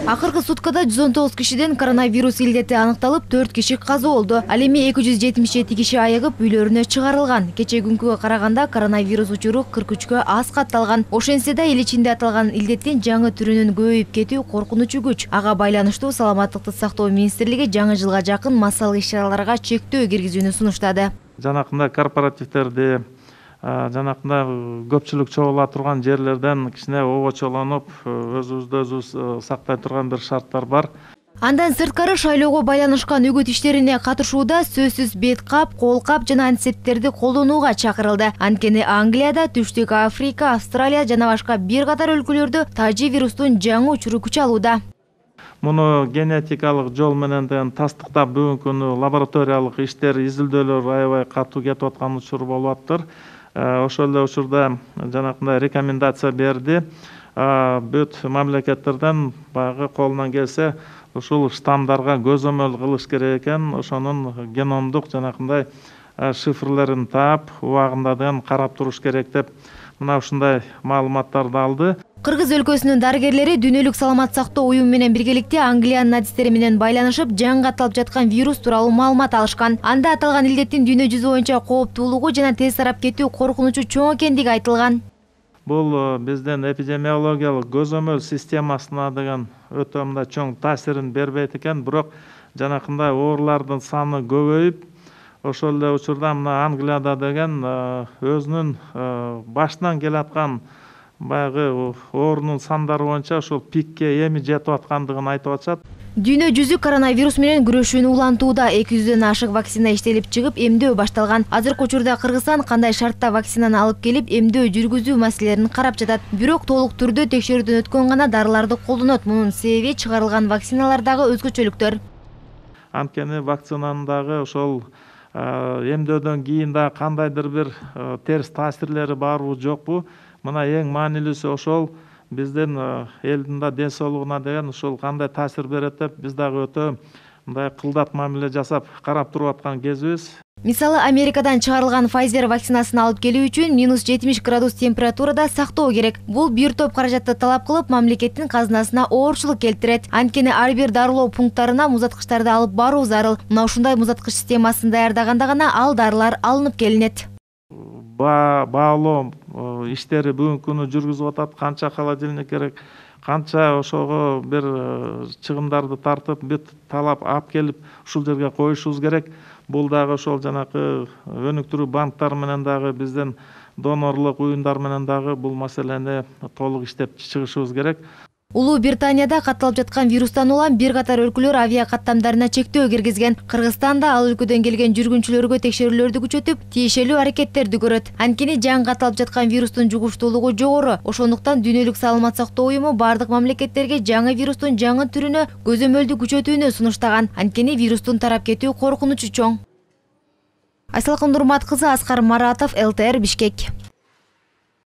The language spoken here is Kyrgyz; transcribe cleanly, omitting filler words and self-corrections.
Акыркы суткада 119 кишиден коронавирус илдети аныкталып, 4 киши каза болду. Ал эми 277 киши айыгып үйлөрүнө чыгарылган. Кече күнгүгө караганда коронавирус учуру 43кө аз катталган. Ошентсе да эл ичинде аталган илдеттин жаңы түрүнүн көбөйүп кетүү коркунучу күч. Ага байланыштуу Саламаттыкты сактоо министрлиги жаңы жылга жакын массалык иш-чараларга чектөө киргизүүнү сунуштады. Жанакында корпоративдерди, жанакында көпчүлүк чогула турган жерлерден кичине обочолонуп, өзүбүздү өзүбүз сактай турган бир шарттар бар. Андан сырткары шайлоого байланышкан үгүт иштерине катышууда сөзсүз бет кап, кол кап жана антисептиктерди колдонууга чакырылды. Анткени Англияда, Түштүк Африка, Австралия жана башка бир катар өлкөлөрдө тажи вирустун жаңы учуру күч алууда. Муну генетикалык жол менен тастыктап бүгүнкү күнү лабораториялык иштер, изилдөөлөр аябай катуу кетип аткан учур болуп атыптыр. Ошол эле учурда жанакындай рекомендация берди. Бүт мамлекеттерден баягы колунан келсе ушул штаммдарга көзөмөл кылыш керек экен, ошонун геномдук жанакындай шифрлерин таап, убагында карап туруш керек деп мына ушундай маалыматтарды алды. Кыргыз өлкөсүнүн дарыгерлери дүйнөлүк саламат сактоо уюму менен биргеликте Англиянын адистери менен байланышып, жаңы катталып жаткан вирус тууралуу маалымат алышкан. Анда аталган илдеттин дүйнө жүзү боюнча кооптуулугу жана тез тарап кетүү коркунучу чоң экендиги айтылган. Бул биздин эпидемиологиялык көзөмөл системасына деген өтө мындай чоң таасирин бербейт экен, бирок жанакындай оорулардын саны көбөйүп, ошол эле учурда мына Англияда деген өзүнүн башынан келаткан баягы оорунун сандары боюнча ошол пикке эми жетип аткандыгын айтып атышат. Дүйнө жүзү коронавирус менен күрөшүүнү улантууда. 200дөн ашык вакцина иштелип чыгып, эмдөө башталган. Азыркы учурда Кыргызстан кандай шартта вакцинаны алып келип, эмдөө жүргүзүү маселелерин карап жатат. Бирок толук түрдө текшерүүдөн өткөн гана дарыларды колдонот. Мунун себеби чыгарылган вакциналардагы өзгөчөлүктөр. Анткени вакцинанын дагы ошол эмдөөдөн кийин да кандайдыр бир терс таасирлери барбы жокпу? Мына эң маанилүүсү ошол биздин элдин да ден соолугуна деген ушул кандай таасир берет деп биз дагы өтө мындай кылдат мамиле жасап карап туруп аткан кезибиз. Мисалы, Америкадан чыгарылган Pfizer вакцинасын алып келүү үчүн -70 градус температурада сактоо керек. Бул бир топ каражатты талап кылып, мамлекеттин казынасына оорчулук келтирет. Анткени ар бир дарылоо пункттарына музаткычтарды алып баруу зарыл. Мына ушундай музаткыч системасын даярдаганда гана ал дарылар алынып келинет. Баалоо иштери бүгүнкү күнү жүргүзүп атат. Канча холодильник керек, канча ошого бир чыгымдарды тартып, бүт талап алып келип ушул жерге коюшубуз керек. Бул дагы ошол жанакы өнүктүрүү банктары менен дагы биздин донорлук уюмдар менен дагы бул маселени толук иштеп чыгышыбыз керек. Улуу Британияда катталып жаткан вирустан улам бир катар өлкөлөр авиа каттамдарына чектөө киргизген. Кыргызстан да ал өлкөдөн келген жүргүнчүлөргө текшерүүлөрдү күчөтүп, тиешелүү аракеттерди көрөт. Анткени жаңы катталып жаткан вирустун жугуштуулугу жогору. Ошондуктан дүйнөлүк саламат сактоо уюму бардык мамлекеттерге жаңы вирустун жаңы түрүнө көзөмөлдү күчөтүүнү сунуштаган. Анткени вирустун тарап кетүү коркунучу чоң. Айсалкын Нурмат кызы, Аскар Маратов, ЛТР, Бишкек.